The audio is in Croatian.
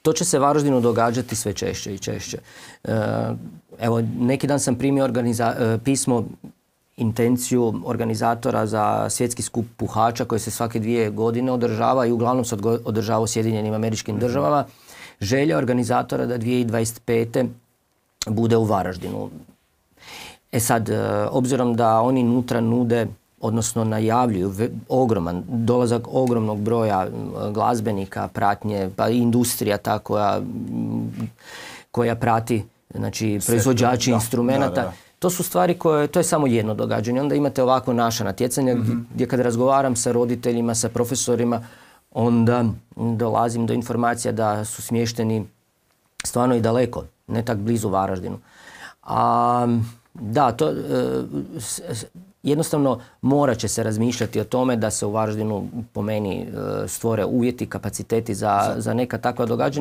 to će se Varaždinu događati sve češće i češće. Evo, neki dan sam primio pismo, intenciju organizatora za svjetski skup puhača koji se svake 2 godine održava i uglavnom se održava u Sjedinjenim Američkim Državama. Želja organizatora da 2025. bude u Varaždinu. Sad, obzirom da oni nutra nude, odnosno najavljuju ogroman dolazak ogromnog broja glazbenika, pratnje, pa i industrija ta koja prati, znači proizvođači instrumenata. To su stvari to je samo jedno događanje. Onda imate ovako naša natjecanja gdje kad razgovaram sa roditeljima, sa profesorima, onda dolazim do informacija da su smješteni stvarno i daleko, ne tak blizu Varaždinu. Da, to jednostavno morat će se razmišljati o tome da se u Varaždinu po meni stvore uvjeti, kapaciteti za neka takva događanja.